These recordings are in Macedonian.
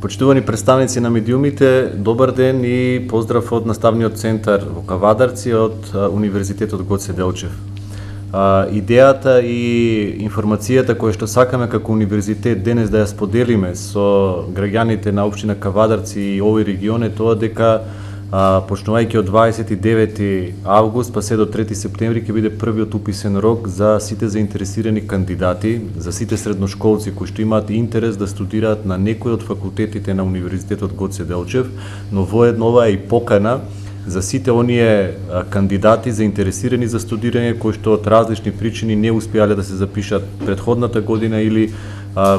Почитувани представници на медиумите, добар ден и поздрав од наставниот центар во Кавадарци од Универзитетот Гоце Делчев. Идејата и информацијата која што сакаме како универзитет денес да ја споделиме со граѓаните на општина Кавадарци и овој регион е тоа дека почнувајќи од 29 август па се до 3 септември ќе биде првиот уписен рок за сите заинтересирани кандидати, за сите средношколци кои што имаат интерес да студираат на некој од факултетите на Универзитетот Гоце Делчев, но воедно ова е и покана за сите оние кандидати заинтересирани за студирање кои што од различни причини не успеале да се запишат предходната година или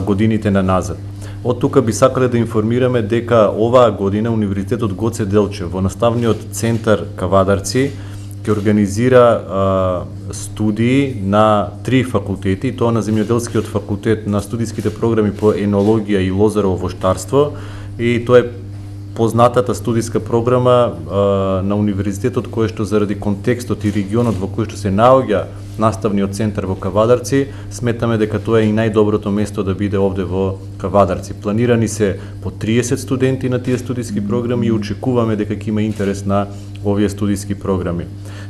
годините на назад. Од тука би сакале да информираме дека оваа година Универзитетот Гоце Делчев во наставниот центар Кавадарци ќе организира студии на 3 факултети, тоа на земјоделскиот факултет, на студиските програми по енологија и лозарово воштарство, и тоа е познатата студиска програма на универзитетот која што заради контекстот и регионот во кој што се наоѓа наставниот центар во Кавадарци, сметаме дека тоа е и најдоброто место да биде овде во Кавадарци. Планирани се по 30 студенти на тие студиски програми и очекуваме дека ќе има интерес на овие студиски програми.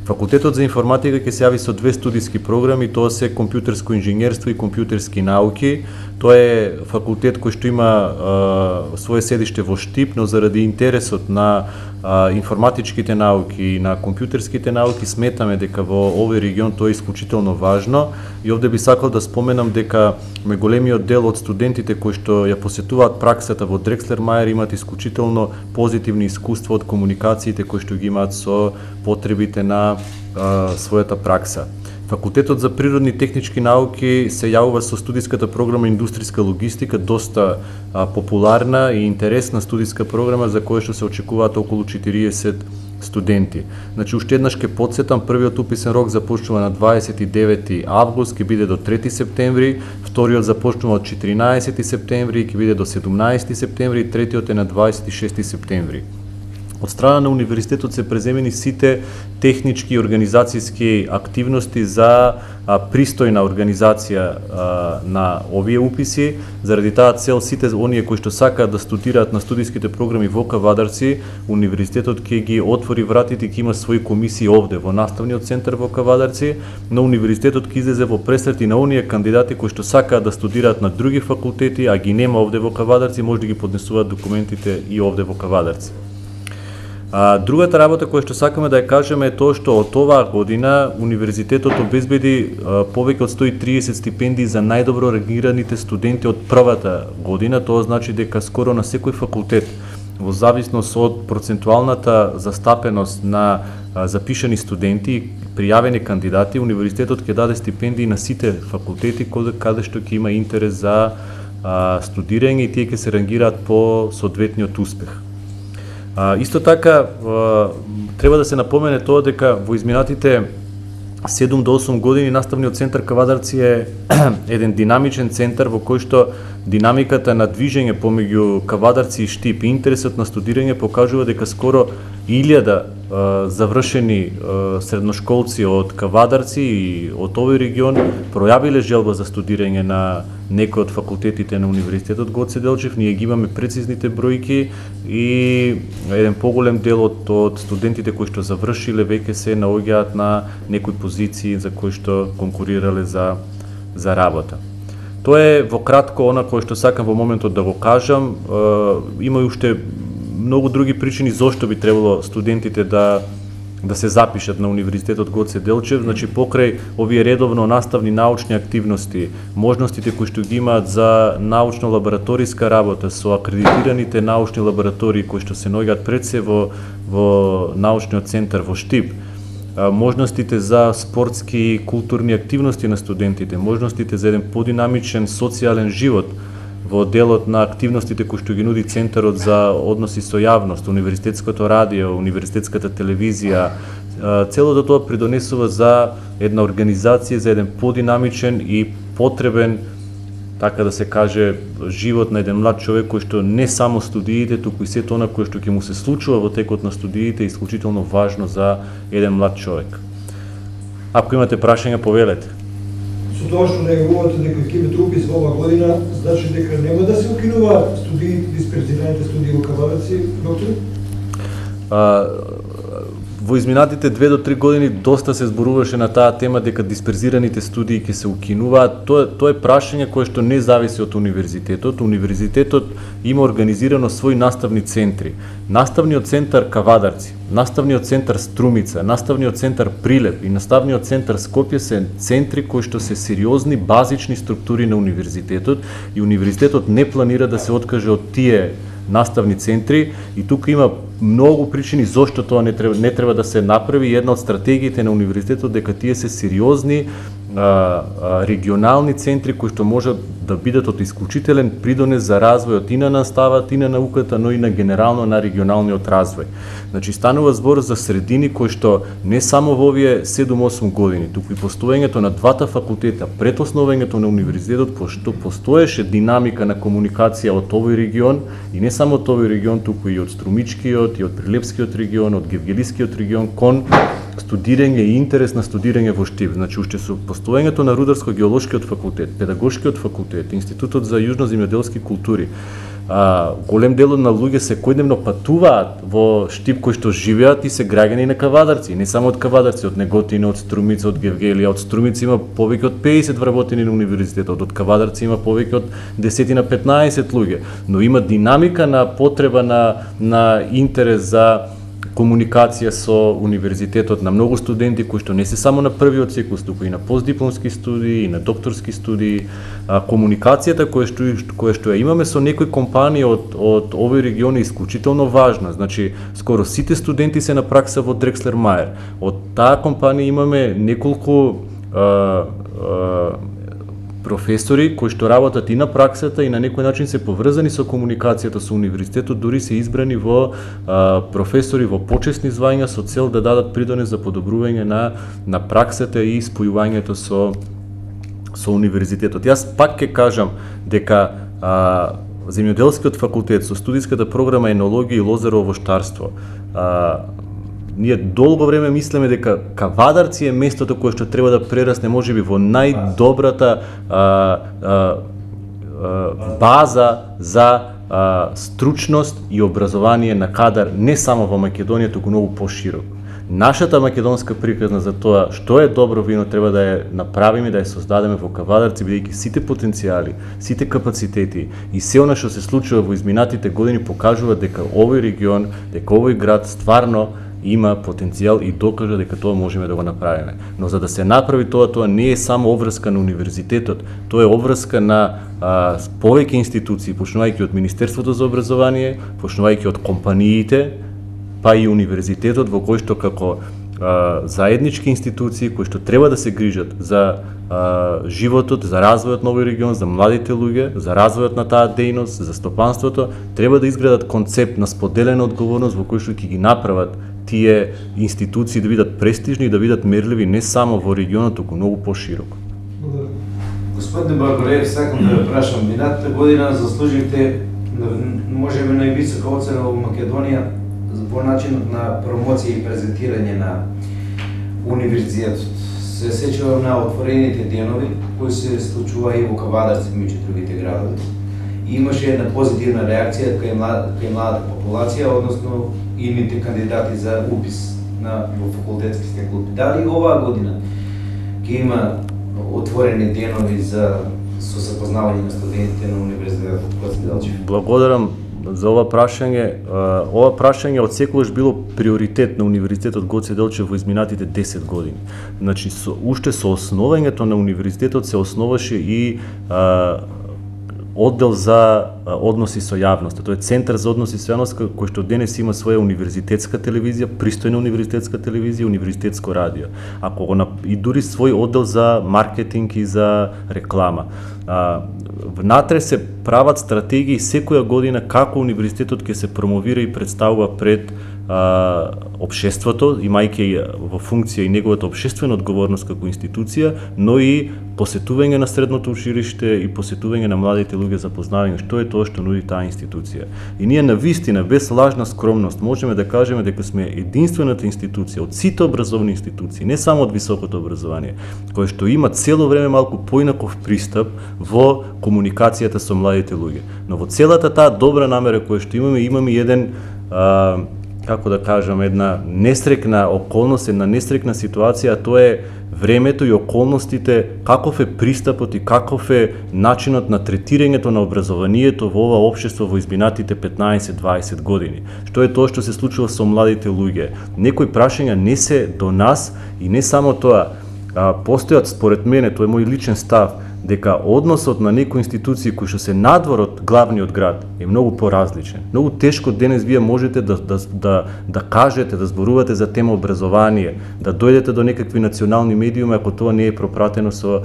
Факултетот за информатика ќе се јави со 2 студиски програми, тоа се компјутерско инженерство и компјутерски науки. Тоа е факултет кој што има свое седиште во Штип, но заради интересот на информатичките науки и на компјутерските науки сметаме дека во овој регион тоа е исклучително важно, и овде би сакал да споменам дека големиот дел од студентите кои што ја посетуваат праксата во Дрекслер Мајер имаат исклучително позитивни искуства од комуникациите кои што ги имаат со потребите на својата пракса. Факултетот за природни технички науки се јавува со студиската програма индустријска логистика, доста популарна и интересна студиска програма за која што се очекуваат околу 40 студенти. Значи, уште еднаш ке подсетам, првиот уписен рок започнува на 29 август, ке биде до 3 септември, вториот започнува од 14 септември и ке биде до 17 септември, и третиот е на 26 септември. Од страна на универзитетот се преземени сите технички и организацијски активности за пристојна организација на овие уписи. Заради таа цел сите оние кои што сакаат да студираат на студиските програми во Кавадарци, универзитетот ќе ги отвори вратите и ќе има своји комисии овде во наставниот центар во Кавадарци, но универзитетот ќе излезе во пресрет и на оние кандидати кои што сакаат да студираат на други факултети, а ги нема овде во Кавадарци, може да ги поднесуваат документите и овде во Кавадарци. Другата работа која што сакаме да ја кажеме е тоа што од оваа година универзитетот обезбеди повеќе од 130 стипендии за најдобро рангираните студенти од првата година. Тоа значи дека скоро на секој факултет, во зависност од процентуалната застапеност на запишани студенти и пријавени кандидати, универзитетот ќе даде стипендии на сите факултети каде што ќе има интерес за студирање и тие ќе се рангираат по соодветниот успех. Исто така, треба да се напомене тоа дека во изминатите 7 до 8 години наставниот центар Кавадарци е еден динамичен центар во кој што динамиката на движење помеѓу Кавадарци и Штип и интересот на студирање покажува дека скоро 1000 завршени средношколци од Кавадарци и од овој регион пројавиле желба за студирање на некој од факултетите на Универзитетот Гоце Делчев. Ние ги имаме прецизните бројки и еден поголем дел од студентите кои што завршиле веќе се наоѓаат на некои позиции за кои што конкурирале за работа. Тоа е во кратко она кое што сакам во моментот да го кажам. Има и уште многу други причини зошто би требало студентите да се запишат на Универзитетот Гоце Делчев. Значи, покрај овие редовно наставни научни активности, можностите кои што ги имаат за научно-лабораториска работа со акредитираните научни лаборатории кои што се наоѓаат пред се во научниот центар во Штип, можностите за спортски и културни активности на студентите, можностите за еден подинамичен социјален живот во делот на активностите кои што ги нуди Центарот за односи со јавност, Универзитетското радио, Универзитетската телевизија, целото тоа придонесува за една организација, за еден подинамичен и потребен, така да се каже, живот на еден млад човек кој што не само студиите, туку и сето она кое што ќе му се случува во текот на студиите е исклучително важно за еден млад човек. Ако имате прашања, повелете. со тоа што најавувате дека ќе имате упис во оваа година, значи дека нема да се укинува дисперзираните студии во Кавадарци, доктор? Во изминатите 2 до 3 години доста се зборуваше на таа тема дека дисперзираните студии ќе се укинуваат. Тоа е прашање кое што не зависи од универзитетот. Универзитетот има организирано своји наставни центри. Наставниот центар Кавадарци, наставниот центар Струмица, наставниот центар Прилеп и наставниот центар Скопје се центри кои што се сериозни базични структури на универзитетот и универзитетот не планира да се откаже од тие наставни центри и тука има многу причини зошто тоа не треба да се направи. Една од стратегиите на универзитетот дека тие се сериозни регионални центри кои што може да бидат од исклучителен придонес за развојот и на наставата, и на науката, но и на генерално на регионалниот развој. Значи станува збор за средини кои што не само во овие 7-8 години, туку и постоењето на двата факултета, пред основањето на универзитетот, пошто постоеше динамика на комуникација од овој регион и не само од овој регион, туку и од Струмичкиот, и од Прилепскиот регион, од Гевгелискиот регион кон студирање и интерес на студирање во Штип. Значи уште со постоењето на Рударско-геолошкиот факултет, Педагошкиот факултет, Институтот за јужноземјоделски култури, голем дел на луѓе секојдневно патуваат во Штип кои што живеат и се граѓани на Кавадарци, не само од Кавадарци, од Неготино, од Струмица, од Гевгелија, од Струмица има повеќе од 50 вработени на универзитетот, од Кавадарци има повеќе од 10 на 15 луѓе, но има динамика на потреба на интерес за комуникација со универзитетот на многу студенти кои што не се само на првиот циклус, туку и на постдипломски студии, и на докторски студии. Комуникацијата која што ја имаме со некои компании од овој регион е исклучително важна. Значи, скоро сите студенти се на пракса во Дрекслер Мајер. Од таа компанија имаме неколку професори кои што работат и на праксата и на некој начин се поврзани со комуникацијата со универзитетот, дури се избрани во професори во почесни звања со цел да дадат придонес за подобрување на праксата и спојувањето со универзитетот. Јас пак ќе кажам дека Земјоделскиот факултет со студиската програма енологија и лозарово воштарство, ние долго време мислеме дека Кавадарци е местото кое што треба да прерасне можеби во најдобрата база за стручност и образование на кадар не само во Македонија, туку многу поширок. Нашата македонска приказна за тоа што е добро вино треба да ја направиме, да ја создадеме во Кавадарци, бидејќи сите потенцијали, сите капацитети и се она што се случува во изминатите години покажува дека овој регион, дека овој град стварно има потенцијал и докажа дека тоа можеме да го направиме. Но за да се направи тоа не е само обврска на универзитетот, тоа е обврска на повеќе институции, почнувајќи од Министерството за образование, почнувајќи од компаниите, па и универзитетот во кој што како заеднички институции кои што треба да се грижат за животот, за развојот на овој регион, за младите луѓе, за развојот на таа дејност, за стопанството, треба да изградат концепт на споделена одговорност во кој што ќе ги направат тие институции да бидат престижни и да бидат мерливи не само во регионот, туку многу пошироко. Господин Барбареев, сакам да ве прашам, минатата година заслуживте можеби највисока оцена во Македонија во начинот на промоција и презентирање на универзитетот. Се сеќавам на отворените денови кои се случува и во Кавадарци меѓу другите градови. И имаше една позитивна реакција кај младата популација, односно идните кандидати за упис во факултетските клуби. Дали оваа година ќе има отворени денови со запознавање на студентите на универзитетот Гоце Делчев? Благодарам за ова прашање. Ова прашање од секогаш било приоритет на Универзитетот Гоце Делчев во изминатите 10 години. Значи, уште со основањето на универзитетот се основаше и оддел за односи со јавноста. Тоа е Центар за односи со јавноста кој што денес има своја универзитетска телевизија, пристојна универзитетска телевизија, универзитетско радио. И дури свој оддел за маркетинг и за реклама. Внатре се прават стратегии секоја година како универзитетот ќе се промовира и представува пред општеството, имајќи во функција и неговата општествена одговорност како институција, но и посетување на средното училиште и посетување на младите луѓе за познавање што е тоа што нуди таа институција. И ние навистина, без лажна скромност, можеме да кажеме дека сме единствената институција од сите образовни институции, не само од високото образование, која што има цело време малку поинаков пристап во комуникацијата со младите луѓе. Но во целата таа добра намера која што имаме еден како да кажам, една несрекна околност, една несрекна ситуација, тоа е времето и околностите, каков е пристапот и каков е начинот на третирањето на образованието во ова општество во изминатите 15-20 години. Што е тоа што се случува со младите луѓе? Некои прашања не се до нас и не само тоа, постојат според мене, тоа е мој личен став, дека односот на некои институции кои што се надвор од главниот град е многу поразличен. Многу тешко денес вие можете да кажете, да зборувате за тема образование, да дојдете до некакви национални медиуми ако тоа не е пропратено со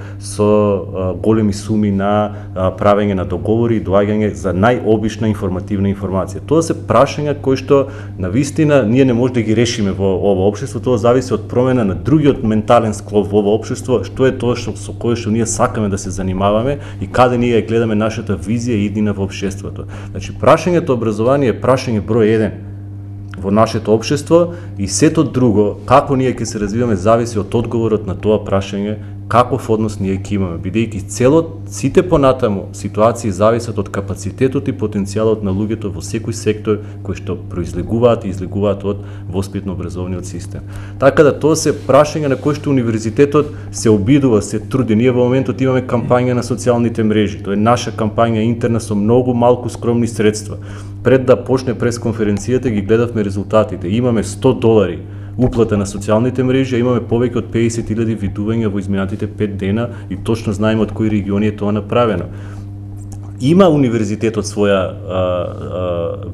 големи суми на правење на договори и доаѓање за најобична информативна информација. Тоа се прашања кои што навистина ние не може да ги решиме во ова општество, тоа зависи од промена на другиот ментален склоп во ова општество, што е тоа со кое што ние сакаме да се занимаваме и каде ние гледаме нашата визија и иднина во општеството. Значи, прашањето образование е прашање број 1 во нашето општество и сето друго, како ние ќе се развиваме, зависи од одговорот на тоа прашање, каков однос ние ќе имаме, бидејќи сите понатаму ситуации зависат од капацитетот и потенцијалот на луѓето во секој сектор кои што произлегуваат и излегуваат од воспитно-образовниот систем. Така да тоа се прашања на кои што универзитетот се обидува, се труди. Ние во моментот имаме кампања на социјалните мрежи. Тоа е наша кампања интерна со многу малку скромни средства. Пред да почне пресконференцијата ги гледавме резултатите. Имаме $100 уплата на социјалните мрежи, имаме повеќе од 50.000 видувања во изминатите 5 дена и точно знаеме од кои региони е тоа направено. Има универзитетот своја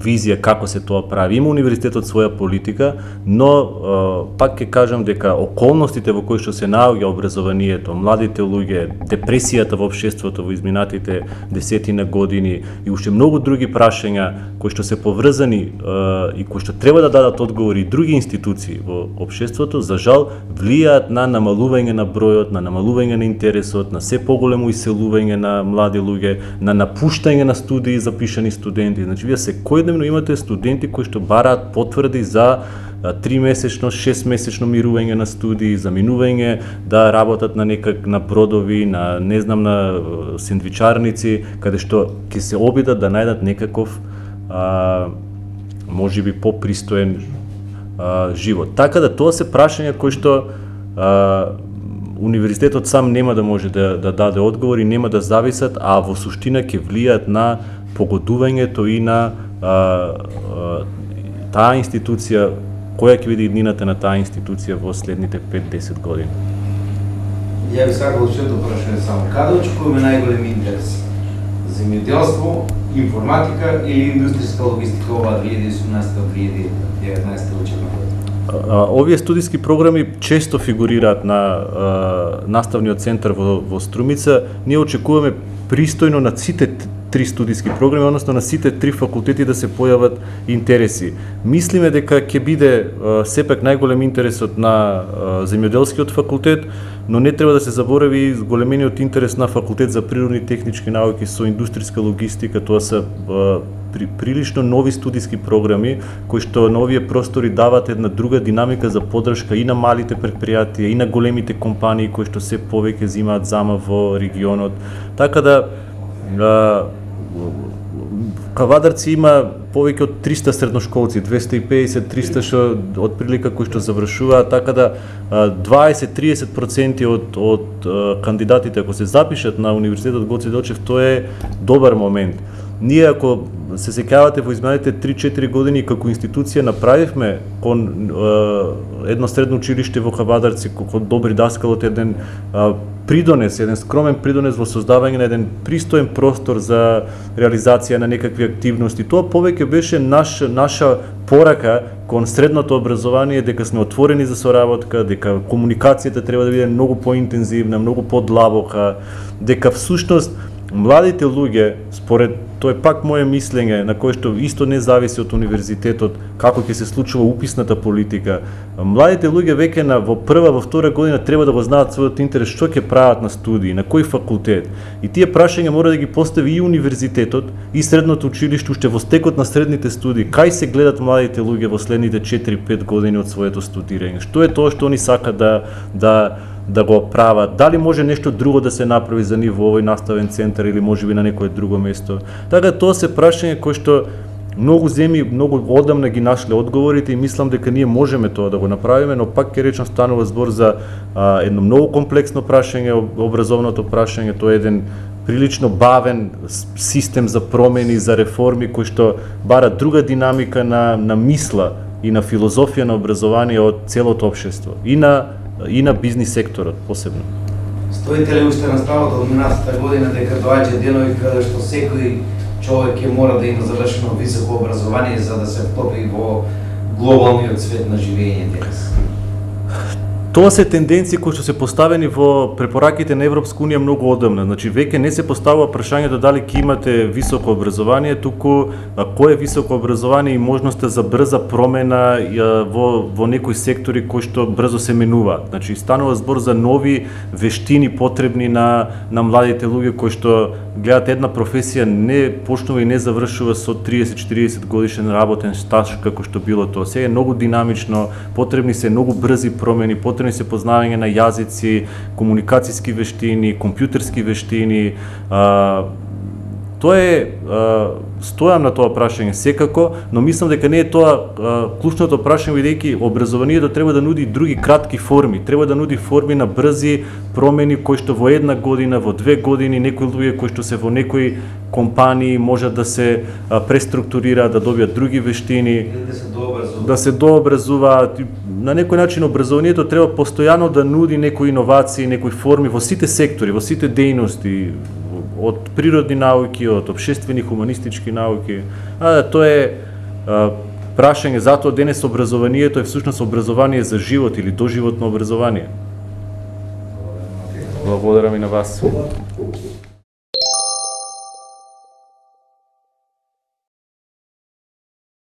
визија како се тоа прави, има универзитетот своја политика, но пак ќе кажам дека околностите во кои што се наоѓа образованието, младите луѓе, депресијата во општеството во изминатите десетина години и уште многу други прашања кои што се поврзани и кои што треба да дадат одговори и други институции во општеството, за жал влијаат на намалување на бројот, на намалување на интересот, на се поголемо иселување на млади луѓе, на напуштање на студии запишани студенти. Значи, вие секојдневно имате студенти кои што бараат потврди за 3-месечно, 6-месечно мирување на студии, за минување да работат на бродови, на не знам на сендвичарници, каде што ќе се обидат да најдат некаков можеби попристоен живот. Така да тоа се прашања кои што универзитетот сам нема да може да даде одговори, нема да зависат, а во суштина ќе влијаат на погодувањето и на таа институција, која ќе биде иднината на таа институција во следните 5-10 години. Ја ви сакал уште прашање само. Каде очекуваме најголем интерес? Земјоделство, информатика или индустријска логистика ова 2018-2019 учебна година? Овие студиски програми често фигурираат на наставниот центар во Струмица. Ние очекуваме пристојно на сите 3 студиски програми, односно на сите 3 факултети да се појават интереси. Мислиме дека ќе биде сепак најголем интересот на земјоделскиот факултет, но не треба да се заборави големениот интерес на факултет за природни и технички науки со индустријска логистика. Тоа се прилично нови студиски програми кои што на овие простори дават една друга динамика за поддршка и на малите претпријатија и на големите компании кои што се повеќе земаат зама во регионот. Така да Кавадарци има повеќе од 300 средношколци, 250-300 што од прилика кои што завршуваат, така да 20-30% од кандидатите ако се запишат на Универзитетот Гоце Делчев, тоа е добар момент. Ние ако се сеќавате во изминалите 3-4 години како институција направивме кон едно средно училиште во Кавадарци, кон Добри Даскалот еден придонес, еден скромен придонес во создавање на еден пристоен простор за реализација на некакви активности. Тоа повеќе беше наша порака кон средното образование, дека сме отворени за соработка, дека комуникацијата треба да биде многу поинтензивна, многу подлабока, дека всушност младите луѓе, според тоа е пак мое мислење, на кое што исто не зависи од универзитетот, како ќе се случува уписната политика. Младите луѓе веќе во прва, во втора година треба да го знаат својот интерес, што ќе прават на студии, на кој факултет. И тие прашања мора да ги постави и универзитетот, и средното училиште, уште во стекот на средните студии. Кај се гледат младите луѓе во следните 4-5 години од своето студирање? Што е тоа што они сакат да го прават, дали може нешто друго да се направи за нив во овој наставен центар или можеби на некое друго место. Така тоа се прашања кои што многу земји многу одамна ги нашле одговорите и мислам дека ние можеме тоа да го направиме, но пак ќе речам станува збор за едно многу комплексно прашање, образовното прашање, тоа е еден прилично бавен систем за промени, за реформи кои што бара друга динамика на мисла и на филозофија на образование од целото општество и на бизнис секторот посебно. Стоите ли уште на ставот од минатата година дека доаѓа денови каде што секој човек ќе мора да има завршено високо образование за да се втопи во глобалниот свет на живење денес? Тоа се тенденции кои што се поставени во препораките на Европска унија многу одамна. Значи веќе не се поставува прашањето дали ќе имате високо образование, туку кое е високо образование и можноста за брза промена во некои сектори кои што брзо се менуваат. Значи станува збор за нови вештини потребни на младите луѓе кои што гледат една професија не почнува и не завршува со 30-40 годишен работен стаж како што било тоа. Сега е многу динамично, потребни се многу брзи промени, потребни се познавање на јазици, комуникацијски вештини, компјутерски вештини. Тоа е, стојам на тоа прашање секако, но мислам дека не е тоа клучното прашање, бидејќи образованието треба да нуди други кратки форми, треба да нуди форми на брзи промени кои што во една година, во 2 години, некои луѓе кои што се во некои компании можат да се преструктурираат, да добијат други вештини, да се дообразуваат. На некој начин образованието треба постојано да нуди некои иновации, некои форми во сите сектори, во сите дејности, од природни науки, од општествени хуманистички науки. Тоа е прашање, затоа денес образованието е всушност образование за живот или доживотно образование. Благодарам и на вас.